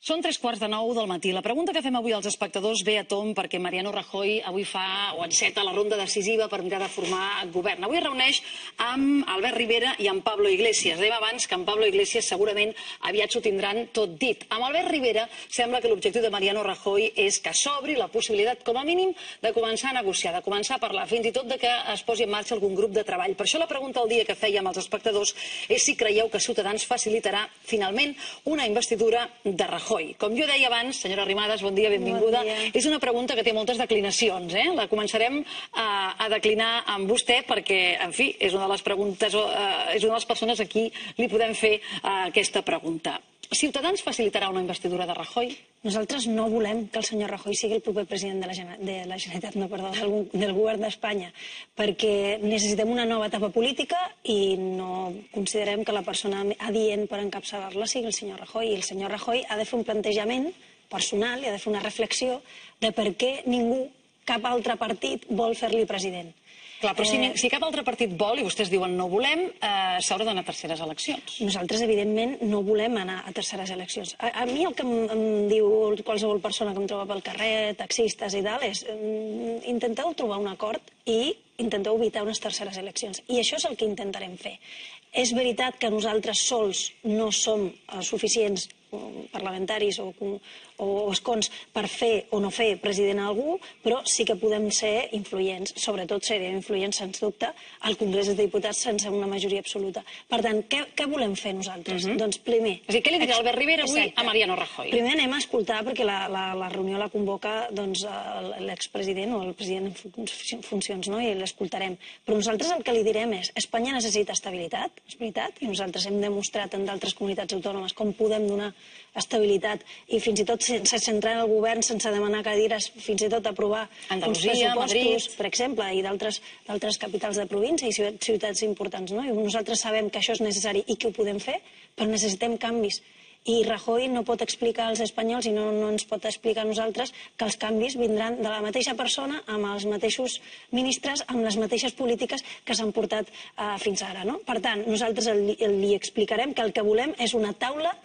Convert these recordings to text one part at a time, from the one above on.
Són 8:45 del matí. La pregunta que fem avui als espectadors ve a tomb perquè Mariano Rajoy avui fa o enceta la ronda decisiva per mirar de formar govern. Avui es reuneix amb Albert Rivera i amb Pablo Iglesias. Dèiem abans que amb Pablo Iglesias segurament aviat s'ho tindran tot dit. Amb Albert Rivera sembla que l'objectiu de Mariano Rajoy és que s'obri la possibilitat, com a mínim, de començar a negociar, de començar a parlar, fins i tot de que es posi en marxa algun grup de treball. Per això la pregunta del dia que fèiem als espectadors és si creieu que Ciutadans facilitarà finalment una investidura de Rajoy. Com jo deia abans, senyora Arrimadas, bon dia, benvinguda. És una pregunta que té moltes declinacions. La començarem a declinar amb vostè perquè, en fi, és una de les preguntes, és una de les persones a qui li podem fer aquesta pregunta. Ciutadans facilitarà una investidura de Rajoy? Nosaltres no volem que el senyor Rajoy sigui el proper president de la Generalitat, del govern d'Espanya, perquè necessitem una nova etapa política i no considerem que la persona adient per encapçalar-la sigui el senyor Rajoy. I el senyor Rajoy ha de fer un plantejament personal i ha de fer una reflexió de per què ningú, cap altre partit, vol fer-li president. Clar, però si cap altre partit vol, i vostès diuen no volem, s'haurà d'anar a terceres eleccions. Nosaltres, evidentment, no volem anar a terceres eleccions. A mi el que em diu qualsevol persona que em troba pel carrer, taxistes i tal, és intenteu trobar un acord i intenteu evitar unes terceres eleccions. I això és el que intentarem fer. És veritat que nosaltres sols no som suficients parlamentaris o escons per fer o no fer president a algú, però sí que podem ser influents, sobretot serem influents, sens dubte, al Congrés dels Diputats sense una majoria absoluta. Per tant, què volem fer nosaltres? Doncs primer... És a dir, què li dirà Albert Rivera avui a Mariano Rajoy? Primer anem a escoltar, perquè la reunió la convoca l'expresident o el president en funcions, i l'escoltarem. Però nosaltres el que li direm és: Espanya necessita estabilitat, és veritat, i nosaltres hem demostrat en d'altres comunitats autònomes com podem donar estabilitat i fins i tot sense entrar en el govern, sense demanar cadires, fins i tot aprovar uns pressupostos, per exemple, i d'altres capitals de província i ciutats importants. I nosaltres sabem que això és necessari i que ho podem fer, però necessitem canvis. I Rajoy no pot explicar als espanyols i no ens pot explicar a nosaltres que els canvis vindran de la mateixa persona, amb els mateixos ministres, amb les mateixes polítiques que s'han portat fins ara. Per tant, nosaltres li explicarem que el que volem és una taula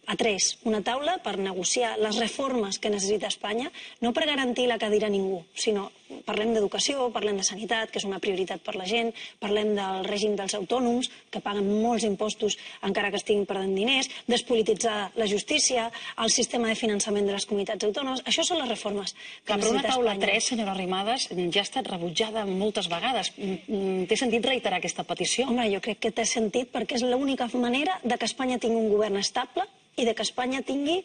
a tres, una taula per negociar les reformes que necessita Espanya, no per garantir la cadira a ningú, sinó parlem d'educació, parlem de sanitat, que és una prioritat per la gent, parlem del règim dels autònoms, que paguen molts impostos encara que estiguin perdent diners, despolititzar la justícia, el sistema de finançament de les comunitats autònomes. Això són les reformes que necessita Espanya. Però una taula 3, senyora Arrimadas, ja ha estat rebutjada moltes vegades. Té sentit reiterar aquesta petició? Home, jo crec que té sentit perquè és l'única manera de que Espanya tingui un govern estable i de que Espanya tingui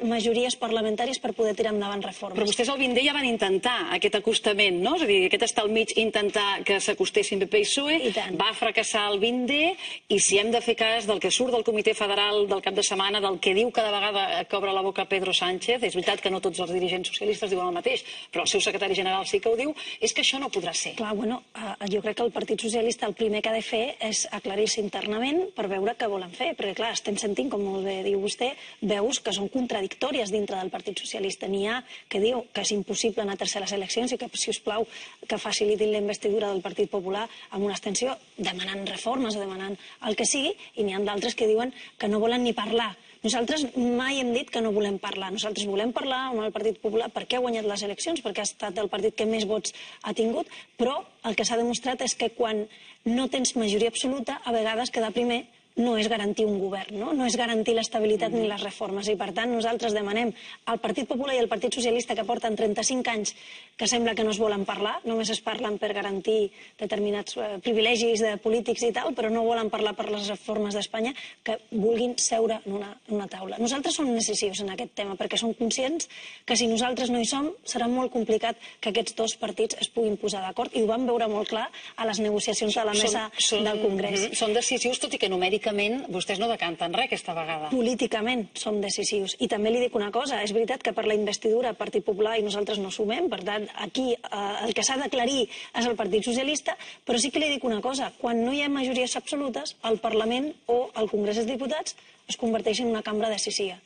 majories parlamentàries per poder tirar endavant reformes. Però vostès al Vindé ja van intentar aquest acostament, no? És a dir, aquest estar al mig, intentar que s'acostessin PP i PSOE, va fracassar el Vindé, i si hem de fer cas del que surt del Comitè Federal del cap de setmana, del que diu cada vegada que obre la boca Pedro Sánchez, és veritat que no tots els dirigents socialistes diuen el mateix, però el seu secretari general sí que ho diu, és que això no podrà ser. Clar, bueno, jo crec que el Partit Socialista el primer que ha de fer és aclarir-se internament per veure què volen fer, perquè clar, estem sentint, com molt bé diu vostè, veus que són contradictòries dintre del Partit Socialista. N'hi ha que diu que és impossible anar a terceres eleccions i que, si us plau, que facilitin la investidura del Partit Popular amb una abstenció demanant reformes o demanant el que sigui, i n'hi ha d'altres que diuen que no volen ni parlar. Nosaltres mai hem dit que no volem parlar. Nosaltres volem parlar amb el Partit Popular perquè ha guanyat les eleccions, perquè ha estat el partit que més vots ha tingut, però el que s'ha demostrat és que quan no tens majoria absoluta, a vegades quedar primer no és garantir un govern, no és garantir l'estabilitat ni les reformes. I per tant nosaltres demanem al Partit Popular i al Partit Socialista, que porten 35 anys que sembla que no es volen parlar, només es parlen per garantir determinats privilegis de polítics i tal, però no volen parlar per les reformes d'Espanya, que vulguin seure en una taula. Nosaltres som decisius en aquest tema perquè som conscients que si nosaltres no hi som serà molt complicat que aquests dos partits es puguin posar d'acord, i ho vam veure molt clar a les negociacions de la mesa del Congrés. Són decisius, tot i que numèricament vostès no decanten res aquesta vegada. Políticament som decisius. I també li dic una cosa, és veritat que per la investidura el Partit Popular i nosaltres no sumem, per tant, aquí el que s'ha d'aclarir és el Partit Socialista, però sí que li dic una cosa, quan no hi ha majories absolutes, el Parlament o el Congrés dels Diputats es converteix en una cambra decisiva.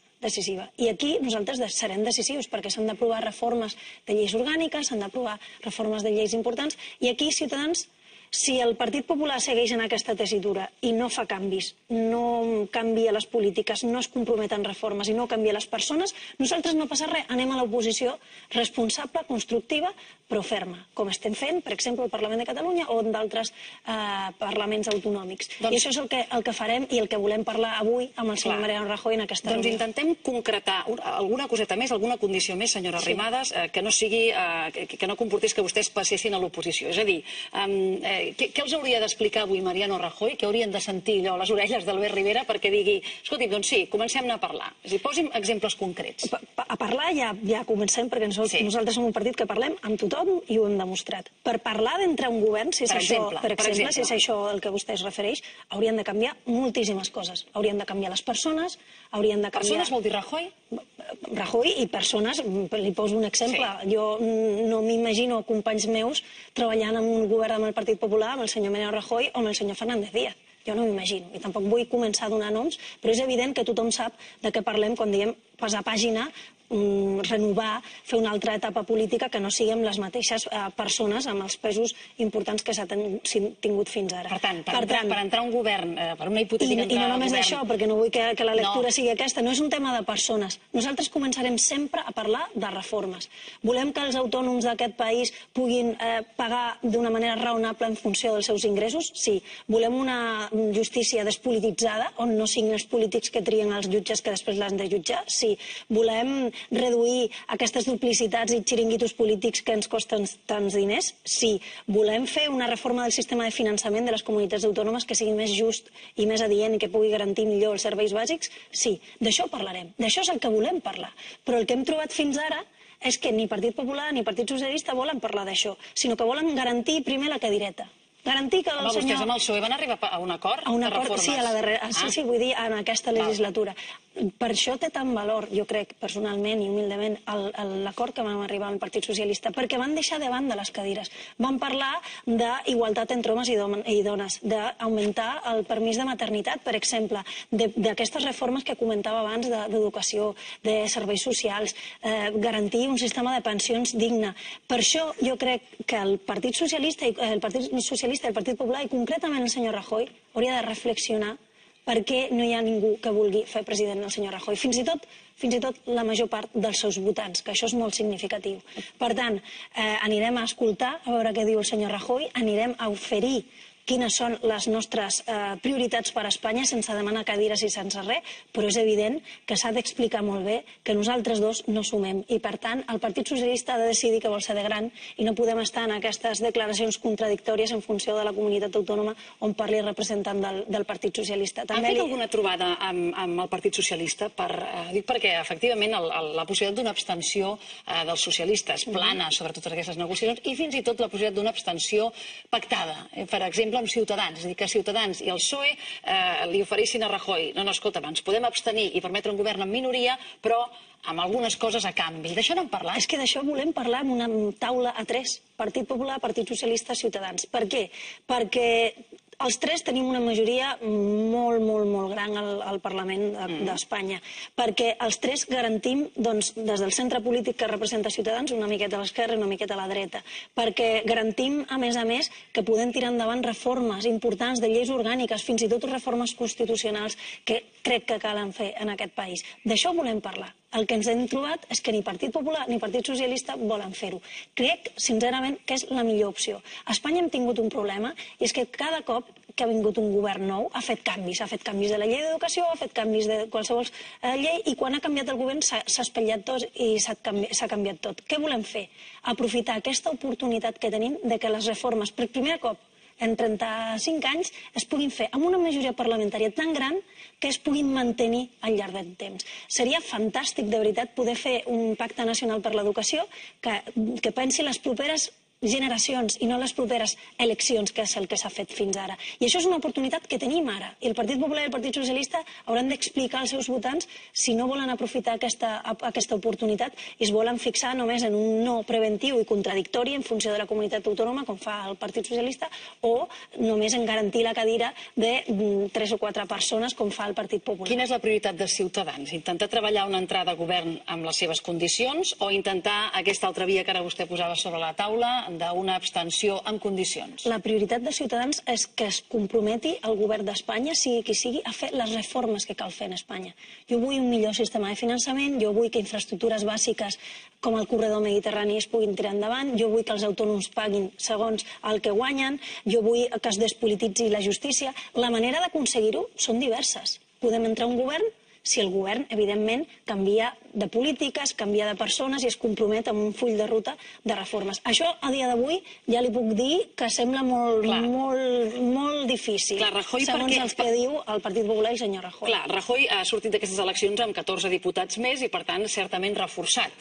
I aquí nosaltres serem decisius perquè s'han d'aprovar reformes de lleis orgàniques, s'han d'aprovar reformes de lleis importants, i aquí Ciutadans Si el Partit Popular segueix en aquesta tessitura i no fa canvis, no canvia les polítiques, no es compromet en reformes i no canvia les persones, nosaltres no passa res, anem a l'oposició responsable, constructiva, però ferma, com estem fent, per exemple, al Parlament de Catalunya o en d'altres parlaments autonòmics. I això és el que farem i el que volem parlar avui amb el senyor Mariano Rajoy en aquesta reunió. Doncs intentem concretar alguna coseta més, alguna condició més, senyora Arrimadas, que no sigui, que no comportés que vostès passessin a l'oposició. És a dir, què els hauria d'explicar avui Mariano Rajoy, que haurien de sentir allò a les orelles d'Albert Rivera perquè digui, escolti'm, doncs sí, comencem a parlar. És a dir, posi'm exemples concrets. A parlar ja comencem, perquè nosaltres som un partit que parlem amb tothom i ho hem demostrat. Per parlar d'entrar un govern, si és això, per exemple, si és això el que vostè es refereix, haurien de canviar moltíssimes coses. Haurien de canviar les persones, haurien de canviar... Persones vol dir Rajoy? Rajoy i persones, li poso un exemple. Jo no m'imagino companys meus treballant en un govern amb el Partit Popular, amb el senyor Mariano Rajoy o amb el senyor Fernández Díaz. Jo no m'imagino. I tampoc vull començar a donar noms, però és evident que tothom sap de què parlem quan diem passar pàgina, renovar, fer una altra etapa política que no siguem les mateixes persones amb els pesos importants que s'ha tingut fins ara. Per tant, per entrar a un govern, per una hipotètica entrada i no només això, perquè no vull que la lectura sigui aquesta, no és un tema de persones. Nosaltres començarem sempre a parlar de reformes. Volem que els autònoms d'aquest país puguin pagar d'una manera raonable en funció dels seus ingressos? Sí. Volem una justícia despolititzada, on no siguin els polítics que trien els jutges que després l'han de jutjar? Sí. Volem reduir aquestes duplicitats i xiringuitos polítics que ens costen tants diners? Sí. Volem fer una reforma del sistema de finançament de les comunitats autònomes que sigui més just i més adient i que pugui garantir millor els serveis bàsics? Sí. D'això parlarem. D'això és el que volem parlar. Però el que hem trobat fins ara és que ni Partit Popular ni Partit Socialista volen parlar d'això, sinó que volen garantir primer la cadireta. Garantir que el senyor... Vostès amb el PSOE van arribar a un acord de reformes? Sí, a la darrera. Sí, vull dir, en aquesta legislatura. Per això té tant valor, jo crec, personalment i humilment, l'acord que vam arribar amb el Partit Socialista, perquè van deixar de banda les cadires. Van parlar d'igualtat entre homes i dones, d'augmentar el permís de maternitat, per exemple, d'aquestes reformes que comentava abans d'educació, de serveis socials, garantir un sistema de pensions digne. Per això jo crec que el Partit Socialista i el Partit Popular, i concretament el senyor Rajoy, hauria de reflexionar per què no hi ha ningú que vulgui fer president el senyor Rajoy. Fins i tot la major part dels seus votants, que això és molt significatiu. Per tant, anirem a escoltar, a veure què diu el senyor Rajoy, anirem a oferir quines són les nostres prioritats per a Espanya, sense demanar cadires i sense res, però és evident que s'ha d'explicar molt bé que nosaltres dos no sumem. I, per tant, el Partit Socialista ha de decidir que vol ser de gran i no podem estar en aquestes declaracions contradictòries en funció de la comunitat autònoma on parli representant del Partit Socialista. Han fet alguna trobada amb el Partit Socialista? Dic perquè, efectivament, la possibilitat d'una abstenció dels socialistes plana sobre totes aquestes negociacions i fins i tot la possibilitat d'una abstenció pactada. Per exemple, amb Ciutadans, és a dir, que Ciutadans i el PSOE li oferissin a Rajoy, no, escolta, ens podem abstenir i permetre un govern en minoria, però amb algunes coses a canvi. D'això n'hem parlat? És que d'això volem parlar en una taula a tres, Partit Popular, Partit Socialista, Ciutadans. Per què? Perquè els tres tenim una majoria molt gran al Parlament d'Espanya, perquè els tres garantim, des del centre polític que representa Ciutadans, una miqueta a l'esquerra i una miqueta a la dreta, perquè garantim, a més, que podem tirar endavant reformes importants de lleis orgàniques, fins i tot reformes constitucionals que crec que calen fer en aquest país. D'això volem parlar. El que ens hem trobat és que ni Partit Popular ni Partit Socialista volen fer-ho. Crec, sincerament, que és la millor opció. A Espanya hem tingut un problema, i és que cada cop que ha vingut un govern nou ha fet canvis de la llei d'educació, ha fet canvis de qualsevol llei, i quan ha canviat el govern s'ha espatllat tot i s'ha canviat tot. Què volem fer? Aprofitar aquesta oportunitat que tenim de que les reformes, per primer cop en 35 anys, es puguin fer amb una majoria parlamentària tan gran que es puguin mantenir al llarg del temps. Seria fantàstic, de veritat, poder fer un pacte nacional per l'educació que pensi les properes generacions i no les properes eleccions, que és el que s'ha fet fins ara. I això és una oportunitat que tenim ara. I el Partit Popular i el Partit Socialista hauran d'explicar als seus votants si no volen aprofitar aquesta oportunitat i es volen fixar només en un no preventiu i contradictori en funció de la comunitat autònoma, com fa el Partit Socialista, o només en garantir la cadira de 3 o 4 persones, com fa el Partit Popular. Quina és la prioritat de Ciutadans? Intentar treballar una entrada a govern amb les seves condicions o intentar aquesta altra via que ara vostè posava sobre la taula, d'una abstenció en condicions? La prioritat de Ciutadans és que es comprometi el govern d'Espanya, sigui qui sigui, a fer les reformes que cal fer en Espanya. Jo vull un millor sistema de finançament, jo vull que infraestructures bàsiques com el corredor mediterrani es puguin tirar endavant, jo vull que els autònoms paguin segons el que guanyen, jo vull que es despolititzi la justícia. La manera d'aconseguir-ho són diverses. Podem entrar a un govern si el govern, evidentment, canvia de polítiques, canvia de persones i es compromet amb un full de ruta de reformes. Això, a dia d'avui, ja li puc dir que sembla molt difícil, segons els que diu el Partit Popular i el senyor Rajoy. Clar, Rajoy ha sortit d'aquestes eleccions amb 14 diputats més i, per tant, certament reforçat.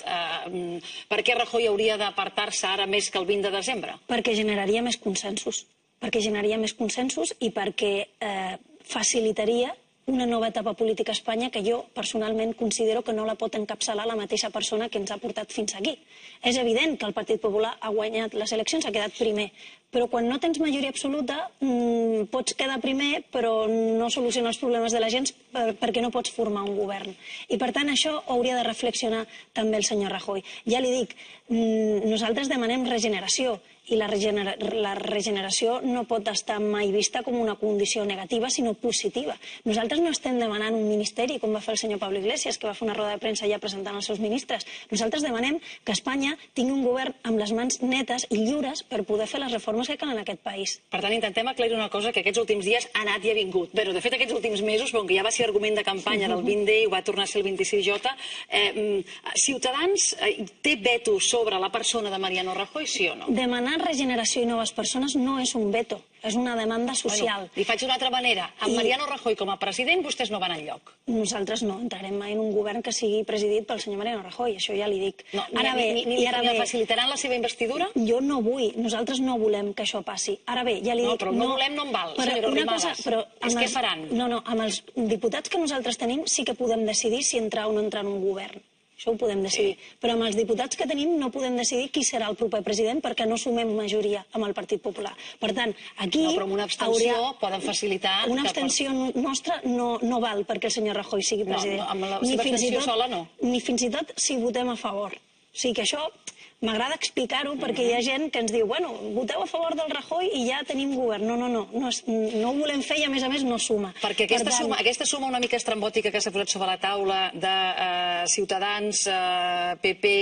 Per què Rajoy hauria d'apartar-se ara més que el 20 de desembre? Perquè generaria més consensos. I perquè facilitaria una nova etapa política a Espanya que jo personalment considero que no la pot encapçalar la mateixa persona que ens ha portat fins aquí. És evident que el Partit Popular ha guanyat les eleccions, ha quedat primer, però quan no tens majoria absoluta pots quedar primer però no solucionar els problemes de la gent perquè no pots formar un govern. I per tant això hauria de reflexionar també el senyor Rajoy. Ja li dic, nosaltres demanem regeneració i la regeneració no pot estar mai vista com una condició negativa, sinó positiva. Nosaltres no estem demanant un ministeri, com va fer el senyor Pablo Iglesias, que va fer una roda de premsa ja presentant els seus ministres. Nosaltres demanem que Espanya tingui un govern amb les mans netes i lliures per poder fer les reformes que calen en aquest país. Per tant, intentem aclarir una cosa que aquests últims dies ha anat i ha vingut. Bé, de fet, aquests últims mesos, com que ja va ser argument de campanya del 20D i ho va tornar a ser el 26J, Ciutadans té veto sobre la persona de Mariano Rajoy, sí o no? Demanar regeneració i noves persones no és un veto, és una demanda social. Li faig d'una altra manera. Amb Mariano Rajoy com a president vostès no van enlloc. Nosaltres no entrarem mai en un govern que sigui presidit pel senyor Mariano Rajoy, això ja li dic. Ni facilitaran la seva investidura? Jo no vull, nosaltres no volem que això passi. Ara bé, ja li dic... No, però no volem no en val, senyora Arrimadas. És què faran? No, amb els diputats que nosaltres tenim sí que podem decidir si entrar o no entrar en un govern. Això ho podem decidir. Però amb els diputats que tenim no podem decidir qui serà el proper president perquè no sumem majoria amb el Partit Popular. Per tant, aquí... No, però amb una abstenció poden facilitar... Una abstenció nostra no val perquè el senyor Rajoy sigui president. No, amb la seva abstenció sola no. Ni fins i tot si votem a favor. O sigui que això... M'agrada explicar-ho perquè hi ha gent que ens diu bueno, voteu a favor del Rajoy i ja tenim govern. No ho volem fer i a més no suma. Perquè aquesta suma una mica estrambòtica que s'ha posat sobre la taula de Ciutadans, PP,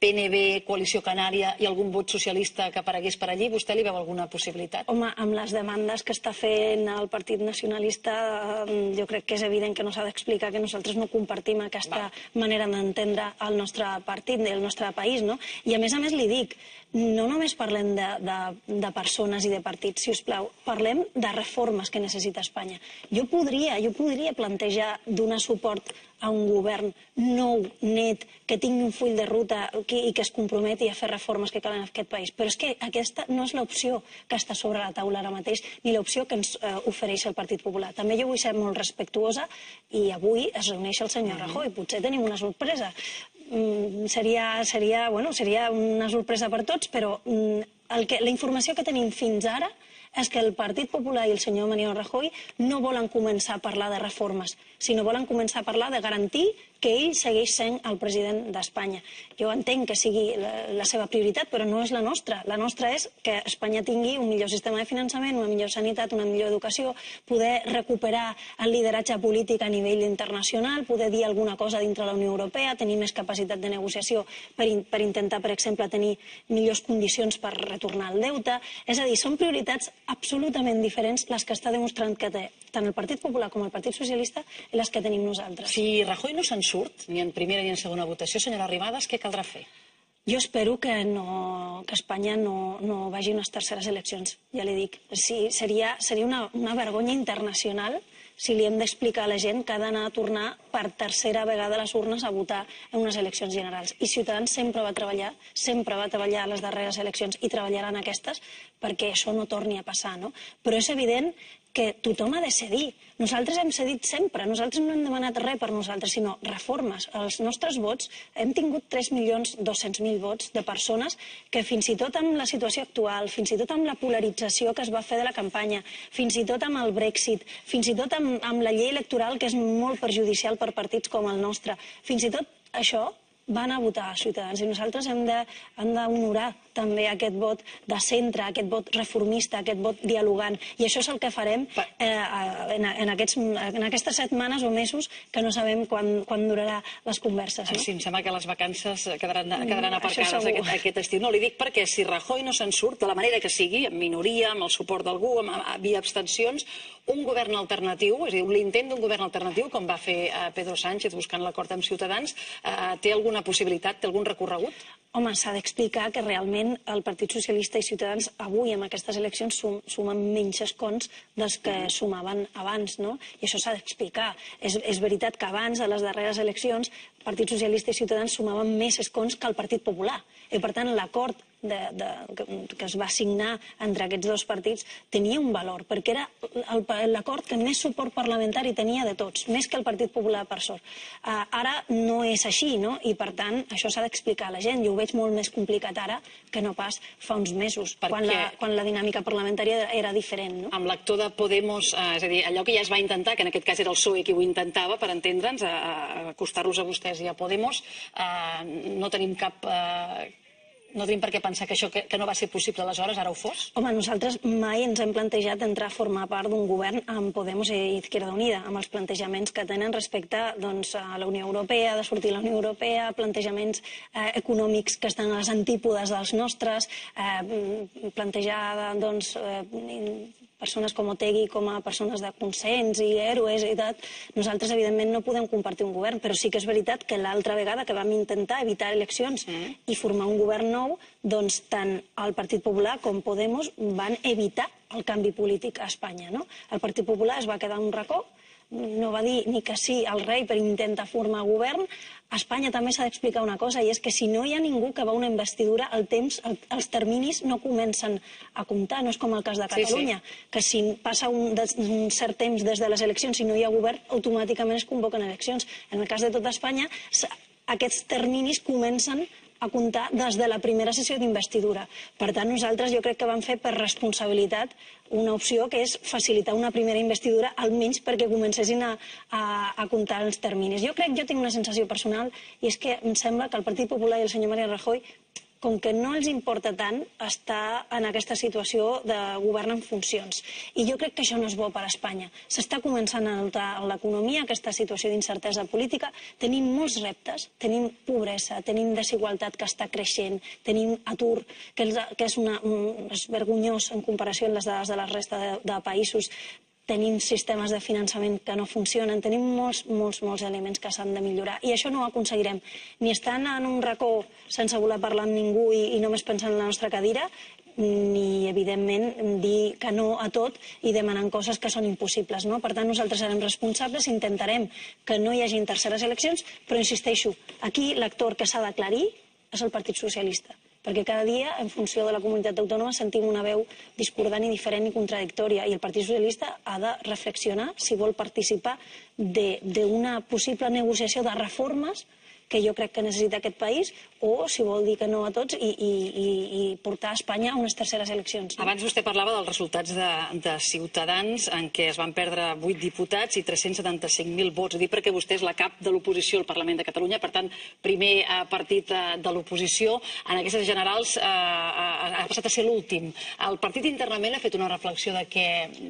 PNB, Coalició Canària i algun vot socialista que aparegués per allí, vostè li veu alguna possibilitat? Home, amb les demandes que està fent el Partit Nacionalista jo crec que és evident que no s'ha d'explicar que nosaltres no compartim aquesta manera d'entendre el nostre partit, el nostre país, no? I a més li dic, no només parlem de persones i de partits, si us plau, parlem de reformes que necessita Espanya. Jo podria plantejar donar suport a un govern nou, net, que tingui un full de ruta i que es comprometi a fer reformes que calen en aquest país. Però és que aquesta no és l'opció que està sobre la taula ara mateix, ni l'opció que ens ofereix el Partit Popular. També jo vull ser molt respectuosa i avui es reuneix el senyor Rajoy. Potser tenim una sorpresa. Seria una sorpresa per tots, però la informació que tenim fins ara és que el Partit Popular i el senyor Mariano Rajoy no volen començar a parlar de reformes, sinó volen començar a parlar de garantir que ell segueix sent el president d'Espanya. Jo entenc que sigui la seva prioritat, però no és la nostra. La nostra és que Espanya tingui un millor sistema de finançament, una millor sanitat, una millor educació, poder recuperar el lideratge polític a nivell internacional, poder dir alguna cosa dintre la Unió Europea, tenir més capacitat de negociació per intentar, per exemple, tenir millors condicions per retornar el deute. És a dir, són prioritats absolutament diferents les que està demostrant que té tant el Partit Popular com el Partit Socialista i les que tenim nosaltres. Si Rajoy no se'n surt, ni en primera ni en segona votació, senyora Arrimadas, què caldrà fer? Jo espero que Espanya no vagi a unes terceres eleccions, ja li dic. Seria una vergonya internacional si li hem d'explicar a la gent que ha d'anar a tornar per tercera vegada a les urnes a votar en unes eleccions generals. I Ciutadans sempre va treballar a les darreres eleccions i treballarà en aquestes perquè això no torni a passar, no? Però és evident que tothom ha de cedir. Nosaltres hem cedit sempre. Nosaltres no hem demanat res per nosaltres, sinó reformes. Els nostres vots, hem tingut 3.200.000 vots de persones que fins i tot amb la situació actual, fins i tot amb la polarització que es va fer de la campanya, fins i tot amb el Brexit, fins i tot amb la llei electoral que és molt perjudicial per partits com el nostre, fins i tot això van a votar a Ciutadans i nosaltres hem d'honorar també aquest vot de centre, aquest vot reformista, aquest vot dialogant. I això és el que farem en aquestes setmanes o mesos que no sabem quan durarà les converses. Sí, em sembla que les vacances quedaran aparcades aquest estiu. No, li dic perquè si Rajoy no se'n surt, de la manera que sigui, amb minoria, amb el suport d'algú, via abstencions, un govern alternatiu, és a dir, l'intent d'un govern alternatiu, com va fer Pedro Sánchez buscant l'acord amb Ciutadans, té alguna possibilitat, té algun recorregut? Home, s'ha d'explicar que realment el Partit Socialista i Ciutadans avui amb aquestes eleccions sumen menys escons dels que sumaven abans, no? I això s'ha d'explicar. És veritat que abans, a les darreres eleccions, el Partit Socialista i Ciutadans sumaven més escons que el Partit Popular. I per tant, l'acord que es va signar entre aquests dos partits tenia un valor, perquè era l'acord que més suport parlamentari tenia de tots, més que el Partit Popular, per sort. Ara no és així, no? I per tant, això s'ha d'explicar a la gent. Jo ho veig molt més complicat ara que no pas fa uns mesos, quan la dinàmica parlamentària era diferent, no? Amb l'actor de Podemos, és a dir, allò que ja es va intentar, que en aquest cas era el PSOE qui ho intentava, per entendre'ns, acostar-los a vostès i a Podemos, no tenim no tenim per què pensar que això que no va ser possible aleshores, ara ho fos? Home, nosaltres mai ens hem plantejat entrar a formar part d'un govern amb Podemos i Izquierda Unida, amb els plantejaments que tenen respecte a la Unió Europea, de sortir de la Unió Europea, plantejaments econòmics que estan a les antípodes dels nostres, plantejar persones com Otegi com a persones de consens i héroes i tal. Nosaltres, evidentment, no podem compartir un govern, però sí que és veritat que l'altra vegada que vam intentar evitar eleccions i formar un govern nou, doncs tant el Partit Popular com Podemos van evitar el canvi polític a Espanya, no? El Partit Popular es va quedar en un racó, no va dir ni que sí al rei per intentar formar govern. A Espanya també s'ha d'explicar una cosa, i és que si no hi ha ningú que va a una investidura, els terminis no comencen a comptar. No és com el cas de Catalunya, que si passa un cert temps des de les eleccions i no hi ha govern, automàticament es convoquen eleccions. En el cas de tota Espanya, aquests terminis comencen a comptar des de la primera sessió d'investidura. Per tant, nosaltres jo crec que vam fer per responsabilitat una opció que és facilitar una primera investidura, almenys perquè comencessin a comptar els terminis. Jo tinc una sensació personal, i és que em sembla que el Partit Popular i el senyor Mariano Rajoy, com que no els importa tant estar en aquesta situació de govern en funcions. I jo crec que això no és bo per a Espanya. S'està començant a notar en l'economia aquesta situació d'incertesa política. Tenim molts reptes, tenim pobresa, tenim desigualtat que està creixent, tenim atur, que és vergonyós en comparació amb les dades de la resta de països. Tenim sistemes de finançament que no funcionen, tenim molts elements que s'han de millorar. I això no ho aconseguirem ni estant en un racó sense voler parlar amb ningú i només pensant en la nostra cadira, ni, evidentment, dir que no a tot i demanant coses que són impossibles. Per tant, nosaltres serem responsables, intentarem que no hi hagi terceres eleccions, però insisteixo, aquí l'actor que s'ha d'aclarir és el Partit Socialista, perquè cada dia, en funció de la comunitat autònoma, sentim una veu discordant i diferent i contradictòria, i el Partit Socialista ha de reflexionar si vol participar d'una possible negociació de reformes que jo crec que necessita aquest país, o si vol dir que no a tots i portar Espanya a unes terceres eleccions. Abans vostè parlava dels resultats de Ciutadans, en què es van perdre 8 diputats i 375.000 vots. Ho dic perquè vostè és la cap de l'oposició al Parlament de Catalunya, per tant, primer partit de l'oposició. En aquestes generals ha passat a ser l'últim. El partit internament ha fet una reflexió de què,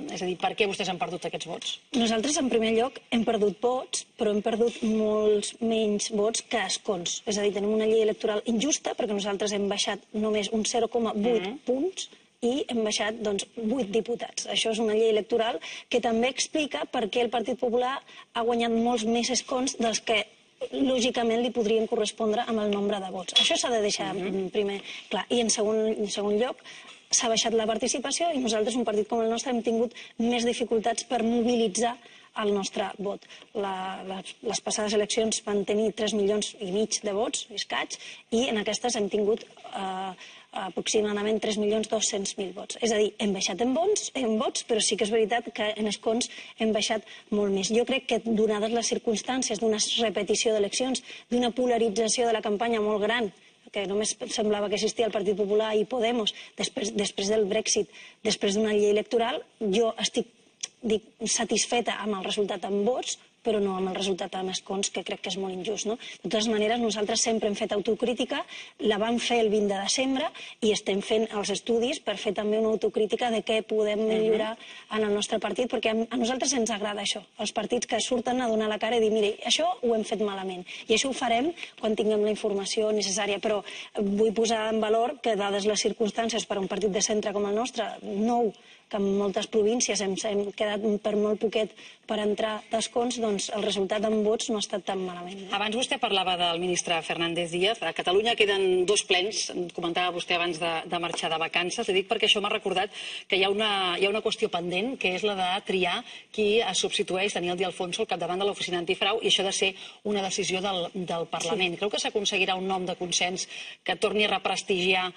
és a dir, per què vostès han perdut aquests vots? Nosaltres, en primer lloc, hem perdut vots, però hem perdut molts menys vots que escons. És a dir, tenim una llei electoral injusta, perquè nosaltres hem baixat només un 0,8 punts i hem baixat 8 diputats. Això és una llei electoral que també explica per què el Partit Popular ha guanyat molts més escons dels que lògicament li podrien correspondre amb el nombre de vots. Això s'ha de deixar primer clar. I en segon lloc, s'ha baixat la participació i nosaltres, un partit com el nostre, hem tingut més dificultats per mobilitzar el nostre vot. Les passades eleccions van tenir 3,5 milions de vots, escaig, i en aquestes hem tingut aproximadament 3.200.000 vots. És a dir, hem baixat en vots, però sí que és veritat que en escons hem baixat molt més. Jo crec que, donades les circumstàncies d'una repetició d'eleccions, d'una polarització de la campanya molt gran, que només semblava que existia el Partit Popular i Podemos, després del Brexit, després d'una llei electoral, jo estic satisfeta amb el resultat en vots, però no amb el resultat amb escons, que crec que és molt injust. No? De totes maneres, nosaltres sempre hem fet autocrítica, la vam fer el 20 de desembre i estem fent els estudis per fer també una autocrítica de què podem millorar en el nostre partit, perquè a nosaltres ens agrada això, els partits que surten a donar la cara i dir, mira, això ho hem fet malament, i això ho farem quan tinguem la informació necessària, però vull posar en valor que, dades les circumstàncies per a un partit de centre com el nostre, nou, que en moltes províncies hem quedat per molt poquet per entrar d'escons, doncs el resultat en vots no ha estat tan malament. Abans vostè parlava del ministre Fernández Díaz. A Catalunya queden 2 plens, comentava vostè abans de marxar de vacances. Li dic perquè això m'ha recordat que hi ha una qüestió pendent, que és la de triar qui substitueix Daniel De Alfonso al capdavant de l'oficina antifrau, i això ha de ser una decisió del Parlament. Creu que s'aconseguirà un nom de consens que torni a represtigiar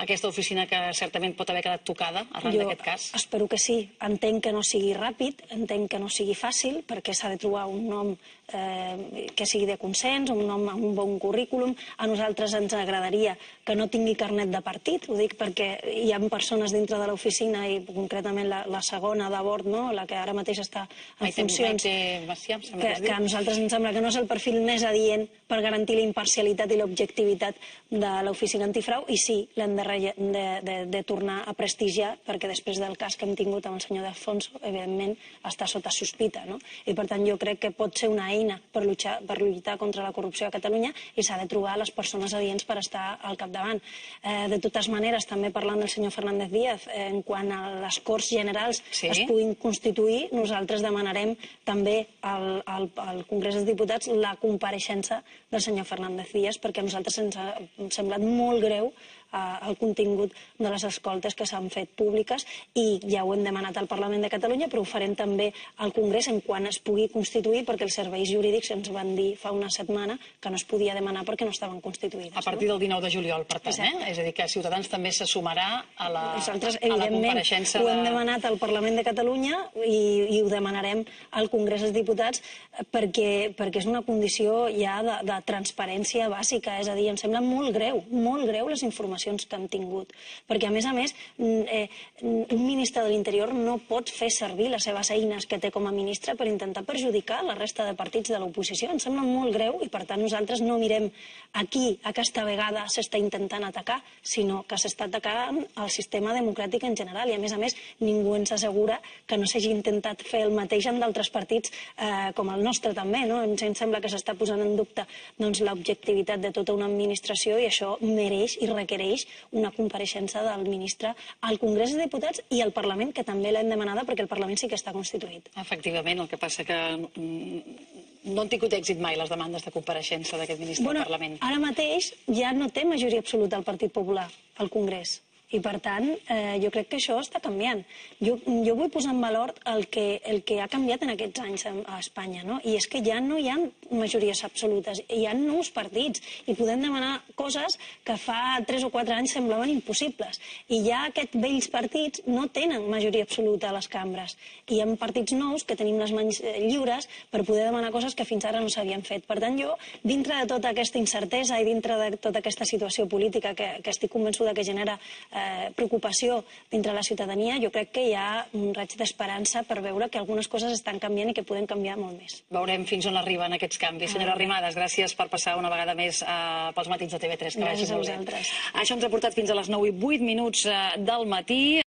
aquesta oficina que certament pot haver quedat tocada arran d'aquest cas? Espero que sí. Entenc que no sigui ràpid, entenc que no sigui fàcil, perquè s'ha de trobar un nom que sigui de consens, un nom amb un bon currículum. A nosaltres ens agradaria que no tingui carnet de partit, ho dic perquè hi ha persones dintre de l'oficina, i concretament la segona de bord, la que ara mateix està en funcions, que a nosaltres ens sembla que no és el perfil més adient per garantir la imparcialitat i l'objectivitat de l'oficina antifrau, i sí, l'hem de tornar a prestigiar, perquè després del cas que hem tingut amb el senyor De Alfonso, evidentment, està sota sospita, no? I per tant jo crec que pot ser una eina per lluitar contra la corrupció a Catalunya, i s'ha de trobar les persones adients per estar al capdavant. De totes maneres, també parlant del senyor Fernández Díaz, en quant a les Corts Generals es puguin constituir, nosaltres demanarem també al Congrés dels Diputats la compareixença del senyor Fernández Díaz, perquè a nosaltres ens ha semblat molt greu el contingut de les escoltes que s'han fet públiques, i ja ho hem demanat al Parlament de Catalunya, però ho farem també al Congrés en quan es pugui constituir, perquè els serveis jurídics ens van dir fa una setmana que no es podia demanar perquè no estaven constituïdes. A partir del 19 de juliol, per tant, És a dir, que Ciutadans també se sumarà a la Nosaltres, evidentment, ho hem demanat al Parlament de Catalunya i ho demanarem al Congrés dels Diputats, perquè és una condició ja de transparència bàsica. És a dir, em sembla molt greu les informacions que han tingut, perquè a més, un ministre de l'Interior no pot fer servir les seves eines que té com a ministre per intentar perjudicar la resta de partits de l'oposició. Em sembla molt greu, i per tant nosaltres no mirem a qui aquesta vegada s'està intentant atacar, sinó que s'està atacant el sistema democràtic en general, i a més, ningú ens assegura que no s'hagi intentat fer el mateix amb d'altres partits com el nostre també, no? Ens sembla que s'està posant en dubte l'objectivitat de tota una administració, i això mereix i requereix una compareixença del ministre al Congrés dels Diputats i al Parlament, que també l'hem demanada, perquè el Parlament sí que està constituït. Efectivament, el que passa que no han tingut èxit mai les demandes de compareixença d'aquest ministre al Parlament. Ara mateix ja no té majoria absoluta el Partit Popular al Congrés, i per tant jo crec que això està canviant. Jo vull posar en valor el que ha canviat en aquests anys a Espanya, i és que ja no hi ha majories absolutes, hi ha nous partits, i podem demanar coses que fa 3 o 4 anys semblaven impossibles, i ja aquests vells partits no tenen majoria absoluta a les cambres, i hi ha partits nous que tenim les mans lliures per poder demanar coses que fins ara no s'havien fet. Per tant, jo, dintre de tota aquesta incertesa i dintre de tota aquesta situació política que estic convençuda que genera preocupació dintre la ciutadania, jo crec que hi ha un raig d'esperança per veure que algunes coses estan canviant i que poden canviar molt més. Veurem fins on arriben aquests canvis. Senyora Arrimadas, gràcies per passar una vegada més pels matins de TV3. Gràcies a vosaltres. Això ens ha portat fins a les 9:08 del matí.